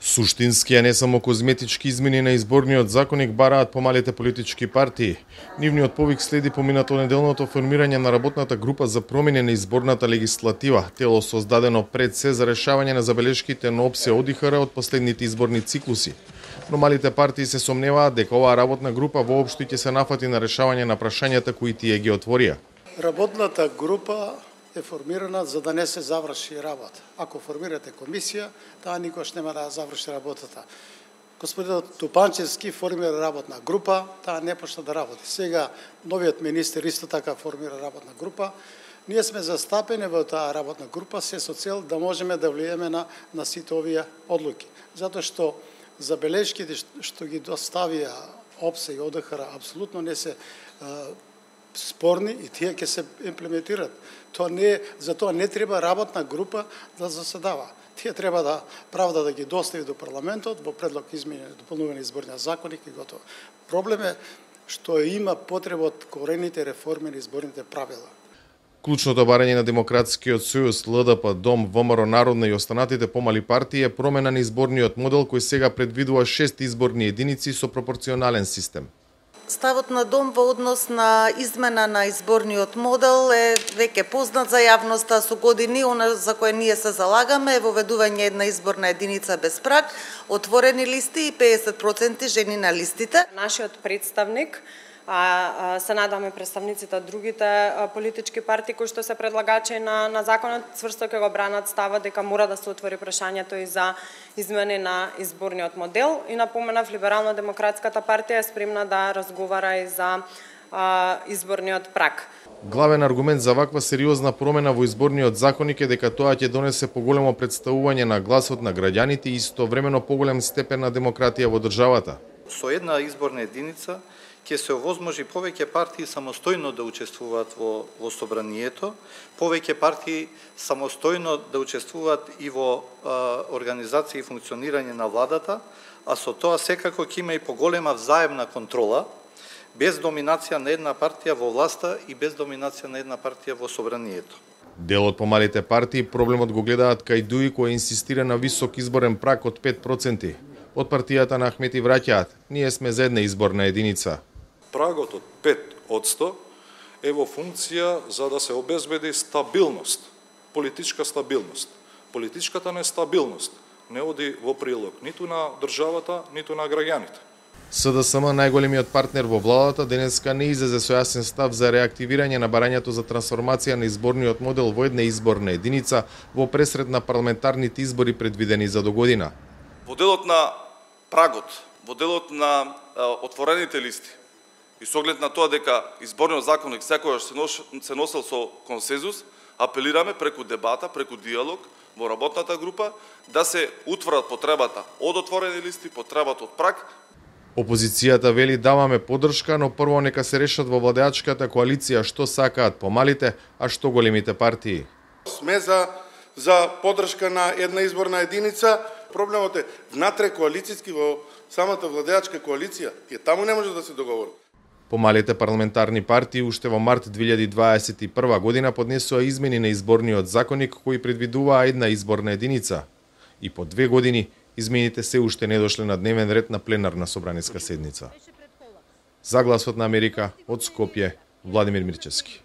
Суштински, а не само козметички измени на изборниот законник бараат помалите политички партии. Нивниот повик следи поминато неделното формирање на работната група за промени на изборната легислатива, тело создадено пред се за решавање на забелешките на ОПСЕ ОДИХР од последните изборни циклуси. Но малите партии се сомневаат дека оваа работна група воопшто ќе се нафати на решавање на прашањата кои тие ги отворија. Работната група е формирана за да не се заврши работа. Ако формирате комисија, таа никош нема да заврши работата. Господин Тупанчевски формира работна група, таа не почна да работи. Сега новиот министер исто така формира работна група. Ние сме застапени во таа работна група се со цел да можеме да влиеме на сите овие одлуки. Затоа што забелешките што ги доставија ОПСЕ и ОДИХР апсолутно не се спорни и тие ќе се имплементираат. Затоа не треба работна група да заседава. Тие треба да ги достави до парламентот во предлог измене и дополнување изборниот законник и готово. Проблем е што има потреба од корените реформи на изборните правила. Клучното барање на Демократскиот сојуз, ЛДП, ДОМ, ВМРО Народна и останатите помали партии е промена на изборниот модел кој сега предвидува 6 изборни единици со пропорционален систем. Ставот на ДОМ во однос на измена на изборниот модел е веќе познат за јавноста со години, она за кое ние се залагаме е воведување една изборна единица без праг, отворени листи и 50% жени на листите. Нашиот представник, се надаме представниците од другите политички партии кои што се предлагачи на законот, цврсто ќе го бранат става дека мора да се отвори прашањето и за измени на изборниот модел. И напоменав, Либерално-демократската партија е спремна да разговара и за изборниот праг. Главен аргумент за ваква сериозна промена во изборниот законник е дека тоа ќе донесе поголемо представување на гласот на граѓаните и истовремено поголем степен на демократија во државата. Со една изборна единица ќе се овозможи повеќе партии самостојно да учествуваат во собранието, повеќе партии самостојно да учествуваат и во организација и функционирање на владата, а со тоа секако ќе има и поголема взаемна контрола, без доминација на една партија во власта и без доминација на една партија во собранието. Дел од помалите партии проблемот го гледаат кај ДУИ кој инсистира на висок изборен праг од 5%. Од партијата на Ахмети враќаат: ние сме за една изборна единица. Прагот од 5% е во функција за да се обезбеди стабилност, политичка стабилност. Политичката нестабилност не оди во прилог ниту на државата, ниту на граѓаните. СДСМ, најголемиот партнер во владата, денеска не излезе со јасен став за реактивирање на барањето за трансформација на изборниот модел во една изборна единица во пресред на парламентарните избори предвидени за догодина. Во делот на прагот, во делот на отворените листи, и со оглед на тоа дека изборниот законник секогаш се носел со консензус, апелираме преку дебата, преку диалог во работната група да се утврдат потребата од отворени листи, потребата од праг. Опозицијата вели: даваме поддршка, но прво нека се решат во владеачката коалиција што сакаат помалите, а што големите партии. Сме за поддршка на една изборна единица. Проблемот е внатре коалицијски во самата владеачка коалиција. Тие таму не може да се договорат. Помалите парламентарни партии уште во март 2021 година поднесоа измени на изборниот законник кои предвидуваа една изборна единица. И по 2 години измените се уште не дошле на дневен ред на пленарна собраниска седница. За Гласот на Америка од Скопје, Владимир Мирчевски.